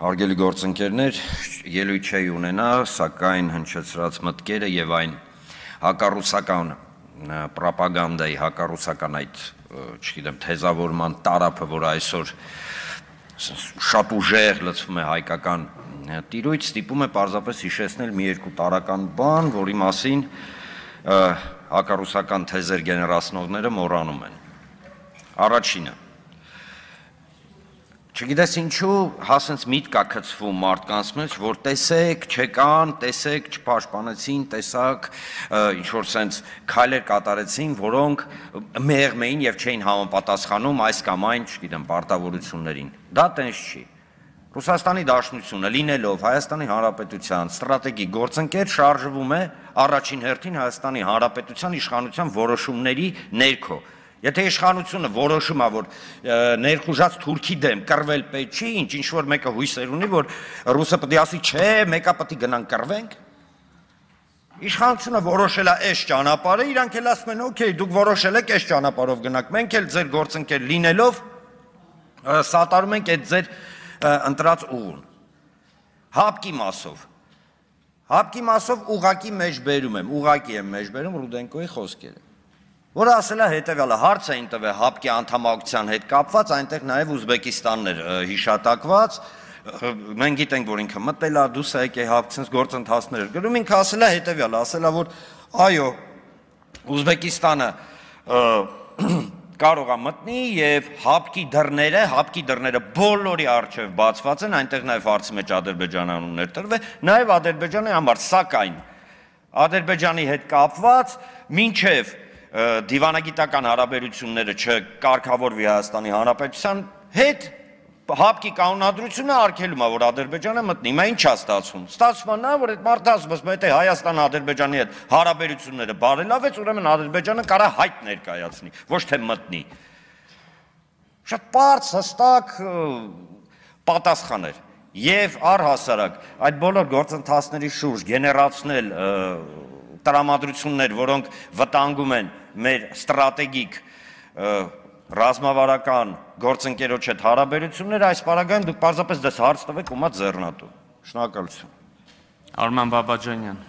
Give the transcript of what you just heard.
Հարգելի գործընկերներ, ելույթ չի ունենա, սակայն հնչեցրած մտքերը եւ այն հակառուսական պրոպագանդայի, հակառուսական այդ, չգիտեմ, թեզավորման տարափը, որ այսօր շատ ուժեղ լցվում է հայկական տիրույթ, ստիպում է պարզապես հիշեցնել մի երկու տարական բան, որի մասին հակառուսական թեզեր գեներացնողները մոռանում են։ Առաջինը, չգիտես ինչու հասենց միտք կա գցվում մարդկանց մեջ, որ տեսեք, չեկան, տեսեք, չպաշտպանեցին, տեսակ, ինչ-որ սենց քայլեր կատարեցին, որոնք մեղմ էին և չէին համապատասխանում այս կամ այն, չգիտեմ, պարտավորություններին։ Դա տենց չի։ Ռուսաստանի Դաշնությունը լինելով Հայաստանի Հանրապետության ստրատեգիկ գործընկեր շարժվում է առաջին հերթին Հայաստանի Հանրապետության իշխանության որոշումների ներքո։ Եթե իշխանությունը որոշում է, որ ներխուժած թուրքի դեմ կռվել պետք չի, ինչ-որ մեկը հույսեր ունի, որ ռուսը պետք է ասի, չէ, մեկը պետք է գնանք կռվենք։ Իշխանությունը որոշել է այս ճանապարհը, իրանք էլ ասում են, օքեյ, դուք որոշել եք այս ճանապարհով գնանք, մենք էլ ձեր գործընկեր լինելով սատարում ենք այդ ձեր ընտրած ուղուն։ Հապկի մասով ուղակի մեջ բերում եմ, ուղակի եմ մեջ բերում Ռուդենկոյի խոսքերը, որը ասել է հետևյալը, հարց էին տվել հապկի անդամակցության հետ կապված, այնտեղ նաև Ուզբեկիստանն էր հիշատակված, մենք գիտենք, որ ինքը մտել է, դուս եկե հապկցնց գործընթացներ գրում, ինքը ասել է հետևյալը, ասել է, որ այո, Ուզբեկիստանը կարող է մտնի և հապկի դռները բոլորի առջև բացված են, այնտեղ նաև հարցի մեջ Ադրբեջանը անուններ տրվել, նաև Ադրբեջանի համար, սակայն Ադրբեջանի հետ կապված մինչև դիվանագիտական հարաբերությունները չկարգավորվի Հայաստանի Հանրապետության հետ, հապկի կանոնադրությունը արգելում է, որ Ադրբեջանը մտնի, հիմա ինչ է ստացվում։ Ստացվում է նա, որ այդ մարդը ասում է, եթե Հայաստանը Ադրբեջանի հետ հարաբերությունները բարելավեց, ուրեմն Ադրբեջանը կարա հայտ ներկայացնի, ոչ թե մտնի։ Շատ պարզ, հստակ պատասխան էր։ Եվ առհասարակ այդ բոլոր գործընթացների շուրջ գեներացնել տրամադրություններ, որոնք վտանգում են մեր ստրատեգիկ ռազմավարական գործընկերոջ հետ հարաբերությունները, այս պարագայում դուք պարզապես դες հարց տվեք ու մատ ձեռնատու։ Շնորհակալություն։ Արման Բաբաջանյան։